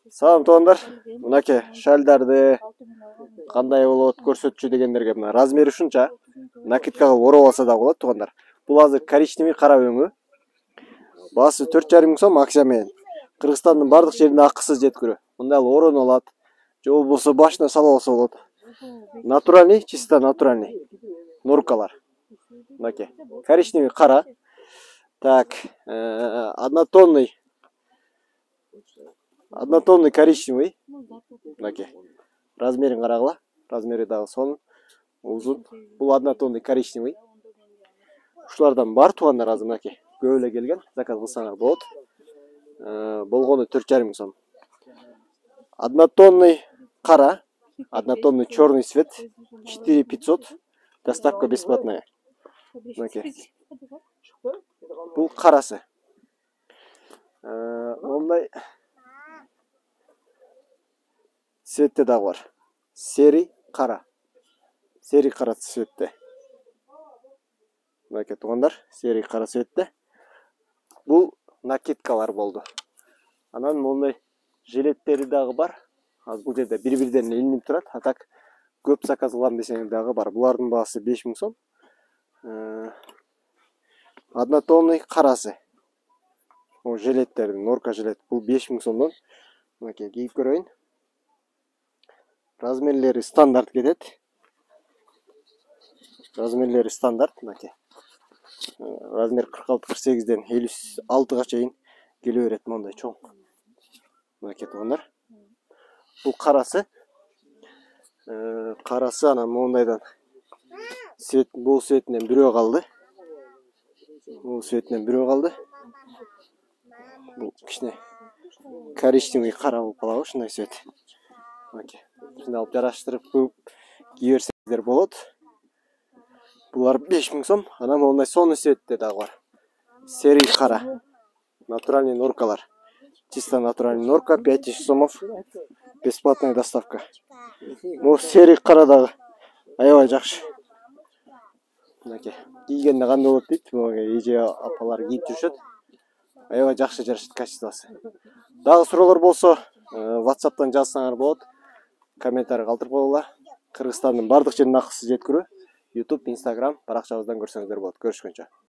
Салам туугандар. Мынакей шальдарды кандай болот көрсөтчү дегендерге мына размери ушунча. Накидкага ороп алса да болот туугандар. Бул азыр коричневый кара өңү. Баасы 4,5 миң сом акция менен. Кыргызстандын бардык жерине акысыз жеткирүү. Мындай ороно алат. Же болбосо башына салып алса болот. Натуральный, чисто натуральный норкалар. Мынакей коричневый кара. Так, однотонный коричневый. Мынакей. Размерин карагыла. Размери дагы сонун, узун. Бул однотонный коричневый. Ушулардан бар туугандар азыр мынакей. Көп эле келген. Заказ кылсаңар болот. Болгону 4,5 миң сом. Однотонный кара, однотонный черный цвет 4500. Доставка бесплатная. Мынакей. Бул карасы. Мондай цветте дагы бар. Серый кара. Серый кара цветте. Мынакей туугандар, серый кара цветте. Бул накидкалар болду. Анан мондай жилеттери дагы бар. Азыр бул жерде бири-бирден илинип турат. А так көп заказ кылам десеңер дагы бар. Булардын баасы 5 миң сом. Однотонный карасы. О, жилеттердин, норка жилет. Бул 5 миң сомдон. Мынакей кийип көрөйүн. Размерлери стандарт кетет. Размерлери стандарт мынакей. Размер 46-48ден 56га чейин келе берет мондай чоң. Мынакей туугандар. Бул карасы. Карасы анан мондайдан цвет, бул цветинен бирөө калды. Бул цветинен бирөө калды. Бул кичине коричневый кара болуп калабы, ушундай цвет. Мынакей. Ушундай алып жараштырып кие берсеңиздер болот. Булар 5 миң сом. Анан мондай сонун цветте дагы бар. Серый кара. Натуральный норкалар. Чисто натуральный норка 5000 сомов. Бесплатная доставка. Бул серый кара дагы аябай жакшы. Мынакей. Кийгенде кандай болот дейт. Эже апалар кийип жүрүшөт. Аябай жакшы жарышат качествосы. Дагы суроолор болсо, WhatsApp'тан жазсаңар болот. Комментарий калтырып койгула. Кыргызстандын бардык жерине акысыз жеткирүү. YouTube, Instagram баракчабыздан көрсөңүздөр болот. Көрүшкөнчө.